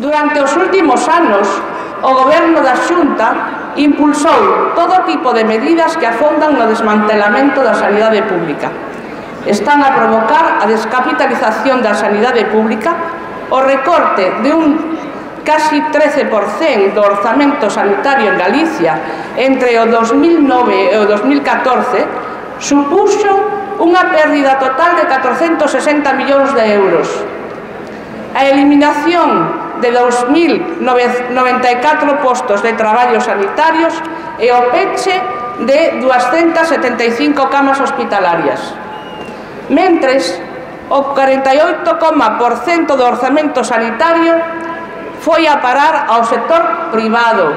Durante os últimos anos, o Goberno da Xunta impulsou todo tipo de medidas que afondan no desmantelamento da sanidade pública. Están a provocar a descapitalización da sanidade pública, o recorte de un casi 13% do orzamento sanitario en Galicia entre o 2009 e o 2014 supuxo unha pérdida total de 460 millóns de euros. A eliminación de 2.094 postos de traballo sanitarios e o peche de 275 camas hospitalarias. Mentres, o 48,% do orzamento sanitario foi a parar ao sector privado.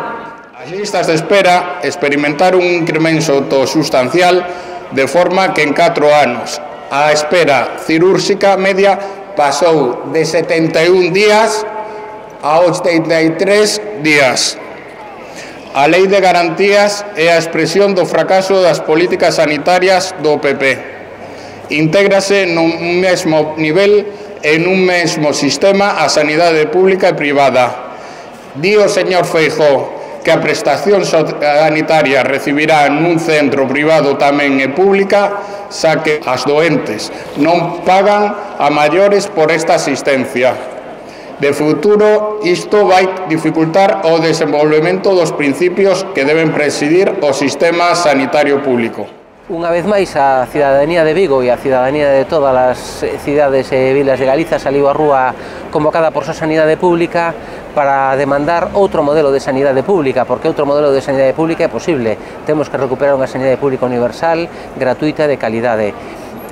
As listas de espera experimentaron un incremento sustancial de forma que en 4 anos a espera cirúrxica media pasou de 71 días a 83 días. A Lei de Garantías é a expresión do fracaso das políticas sanitarias do PP. Intégrase nun mesmo nivel e nun mesmo sistema a sanidade pública e privada. Di o señor Feijóo que a prestación sanitaria recibirá nun centro privado tamén e pública, xa que as doentes non pagan a maiores por esta asistencia. De futuro, isto vai dificultar o desenvolvemento dos principios que deben presidir o sistema sanitario público. Unha vez máis, a cidadanía de Vigo e a cidadanía de todas as cidades e vilas de Galiza saliu á rúa convocada por súa sanidade pública para demandar outro modelo de sanidade pública, porque outro modelo de sanidade pública é posible. Temos que recuperar unha sanidade pública universal, gratuita e de calidade.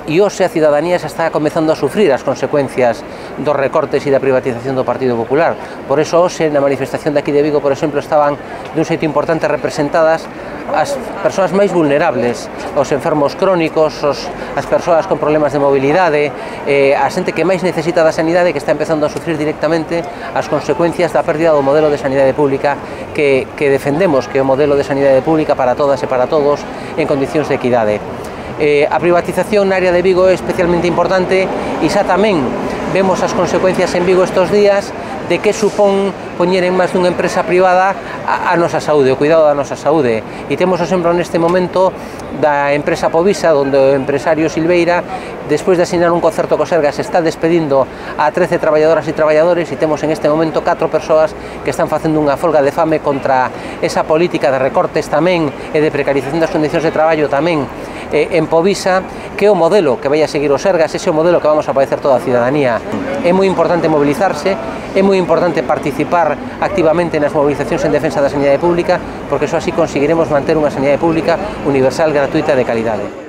E hoxe a cidadanía xa está comezando a sufrir as consecuencias dos recortes e da privatización do Partido Popular. Por eso hoxe na manifestación de aquí de Vigo, por exemplo, estaban dun xeito importante representadas as persoas máis vulnerables, os enfermos crónicos, as persoas con problemas de mobilidade, a xente que máis necesita da sanidade, que está empezando a sufrir directamente as consecuencias da pérdida do modelo de sanidade pública que defendemos, que é o modelo de sanidade pública para todas e para todos en condicións de equidade. A privatización na área de Vigo é especialmente importante e xa tamén vemos as consecuencias en Vigo estes días de que supón poñer en máis dunha empresa privada a nosa saúde, o cuidado da nosa saúde. E temos o exemplo neste momento da empresa Povisa, onde o empresario Silveira, despois de asinar un concerto co Sergas, está despedindo a 13 traballadoras e traballadores, e temos en este momento 4 persoas que están facendo unha folga de fame contra esa política de recortes tamén e de precarización das condicións de traballo tamén en Povisa, que é o modelo que vai a seguir o Sergas, ese é o modelo que vamos a padecer toda a cidadanía. É moi importante mobilizarse, é moi importante participar activamente nas movilizacións en defensa da sanidade pública, porque só así conseguiremos manter unha sanidade pública universal, gratuita e de calidade.